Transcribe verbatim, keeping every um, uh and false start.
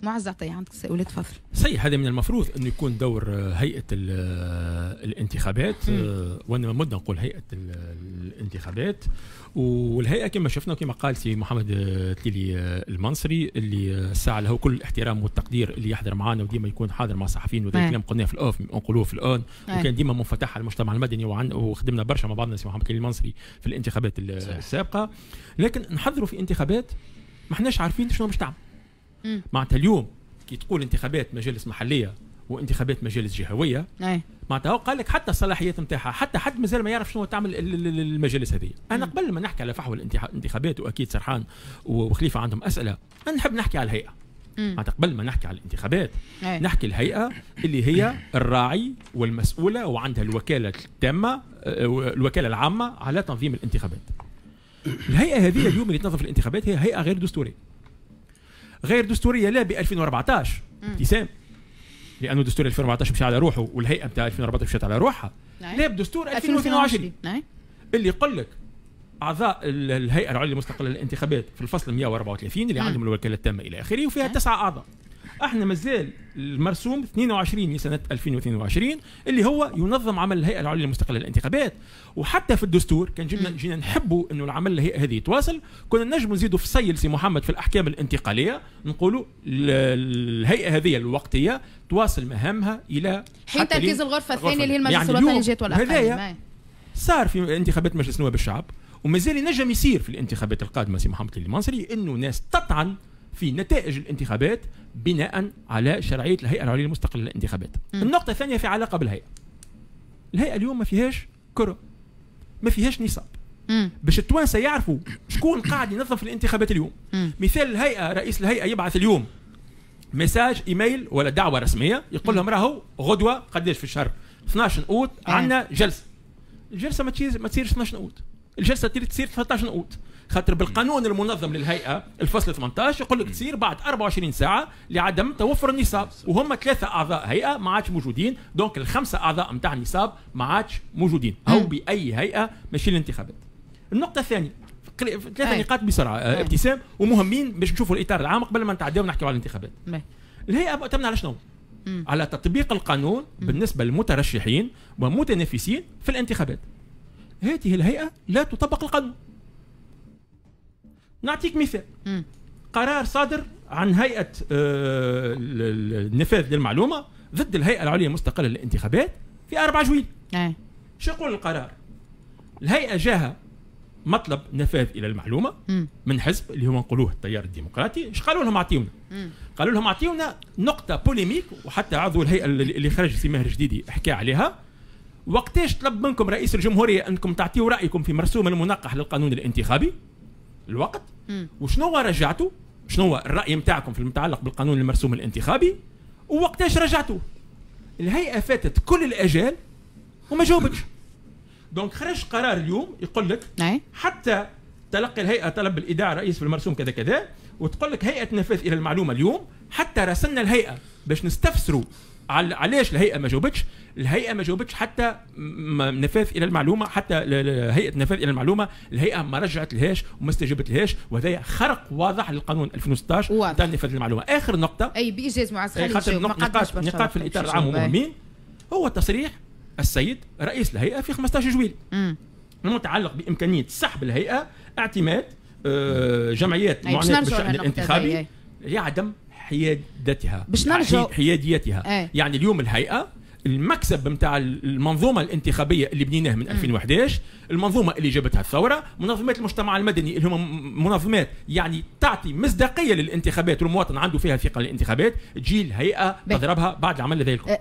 معز عطية، عندك تساؤلات، تفضل. صحيح، هذا من المفروض انه يكون دور هيئة الانتخابات، وانا مده نقول هيئة الانتخابات. والهيئة كما شفنا وكما قال سي محمد تليلي المنصري اللي الساعة له كل الاحترام والتقدير، اللي يحضر معنا وديما يكون حاضر مع الصحفيين، وذا الكلام قلناه في ال off نقولوه في ال on، وكان ديما منفتح على المجتمع المدني، وخدمنا برشا مع بعضنا سي محمد تليلي المنصري في الانتخابات السابقة. لكن نحضروا في انتخابات ما احناش عارفين شنو باش تعمل. معناتها اليوم كي تقول انتخابات مجالس محليه وانتخابات مجالس جهويه، معناتها قال لك حتى الصلاحيات نتاعها حتى حد مازال ما يعرف شنو تعمل المجالس هذه. انا قبل ما نحكي على فحوى الانتخابات، واكيد سرحان وخليفة عندهم اسئلة، انا نحب نحكي على الهيئة. معناتها قبل ما نحكي على الانتخابات أي. نحكي الهيئة اللي هي الراعي والمسؤوله وعندها الوكالة التامة، الوكالة العامة على تنظيم الانتخابات. الهيئة هذه اليوم اللي تنظم الانتخابات هي هيئة غير دستورية. غير دستورية لا ب ألفين وأربعطاش ابتسام، لانه دستور ألفين وأربعطاش مشى على روحه والهيئة نتاع ألفين وأربعطاش مشات على روحها، لا بدستور ألفين واثنين وعشرين اللي يقول لك اعضاء الهيئة العليا المستقلة للانتخابات في الفصل مئة وأربعة وثلاثين اللي عندهم الوكالة التامة الى اخره، وفيها تسعة اعضاء. احنا مازال المرسوم اثنين وعشرين لسنه ألفين واثنين وعشرين اللي هو ينظم عمل الهيئة العليا المستقلة للانتخابات. وحتى في الدستور كان جبنا جينا نحبوا انه العمل الهيئة هذه يتواصل، كنا نجم نزيدوا فصيل سي محمد في الاحكام الانتقالية، نقولوا الهيئة هذه الوقتية تواصل مهامها الى حين تركيز الغرفة الثانية اللي هي المجلس يعني الوطني جات والاقاليم. صار في انتخابات مجلس نواب الشعب، ومازال ينجم يصير في الانتخابات القادمة سي محمد المنصري انه ناس تطعن في نتائج الانتخابات بناء على شرعية الهيئة العليا المستقلة للانتخابات. م. النقطة الثانية في علاقة بالهيئة. الهيئة اليوم ما فيهاش كره، ما فيهاش نصاب. م. باش التوانسة يعرفوا شكون قاعد ينظم في الانتخابات اليوم. م. مثال الهيئة، رئيس الهيئة يبعث اليوم message email ولا دعوه رسمية يقول لهم راهو غدوه قداش في الشهر اثناش اوت عندنا جلسه. الجلسة ما تصير ما تصيرش اثناش اوت، الجلسة تصير ثلاثة عشر اوت، خاطر بالقانون المنظم للهيئة الفصل ثمانية عشر يقول لك تصير بعد أربعة وعشرين ساعة لعدم توفر النصاب، وهم ثلاثة اعضاء هيئة ما عادش موجودين، donc الخمسة اعضاء نتاع النصاب ما عادش موجودين، او باي هيئة ماشي الانتخابات. النقطة الثانية، ثلاثة نقاط بسرعة أي. ابتسام، ومهمين باش نشوفوا الاطار العام قبل ما نتعداو ونحكيو على الانتخابات. الهيئة مؤتمنه على شنو؟ مم. على تطبيق القانون مم. بالنسبة للمترشحين ومتنافسين في الانتخابات. هذه الهيئة لا تطبق القانون. نعطيك مثال. مم. قرار صادر عن هيئة آه النفاذ للمعلومة ضد الهيئة العليا المستقلة للانتخابات في أربعة جويلية. شو يقول القرار؟ الهيئة جاها مطلب نفاذ الى المعلومة مم. من حزب اللي هو نقولوه التيار الديمقراطي. اش قالوا لهم؟ اعطيونا. قالوا لهم اعطيونا نقطة polémique، وحتى عضو الهيئة اللي خرج سي ماهر جديدي حكى عليها. وقتاش طلب منكم رئيس الجمهورية انكم تعطيوا رايكم في مرسوم المنقح للقانون الانتخابي؟ الوقت. مم. وشنو رجعتوا؟ شنو الراي نتاعكم في المتعلق بالقانون المرسوم الانتخابي؟ ووقتاش رجعتوا؟ الهيئة فاتت كل الاجال وما جاوبتش. donc خرج قرار اليوم يقول لك حتى تلقي الهيئة طلب الايداع رئيس في المرسوم كذا كذا، وتقول لك هيئة نفاذ الى المعلومة اليوم حتى راسلنا الهيئة باش نستفسروا علاش الهيئة ما جاوبتش. الهيئة ما جاوبتش حتى نفاذ الى المعلومة، حتى هيئة نفاذ الى المعلومة الهيئة ما رجعت لهاش وما استجابت لهاش، وهذا خرق واضح للقانون ألفين وستطاش تاع نفاذ المعلومة. اخر نقطة اي بايجاز معز خليل، نقاط نقاط في الاطار العام مهمين، هو تصريح السيد رئيس الهيئة في خمسة عشر جويلية المتعلق بامكانية سحب الهيئة اعتماد آه جمعيات معنية بالشان الانتخابي لعدم حيادتها، باش نرجع حياديتها. أي. يعني اليوم الهيئة المكسب نتاع المنظومة الانتخابية اللي بنيناه من ألفين وأحد عشر، المنظومة اللي جابتها الثورة، منظمات المجتمع المدني اللي هم منظمات يعني تعطي مصداقية للانتخابات والمواطن عنده فيها ثقة للانتخابات، تجي الهيئة تضربها بعد العمل هذا الكل.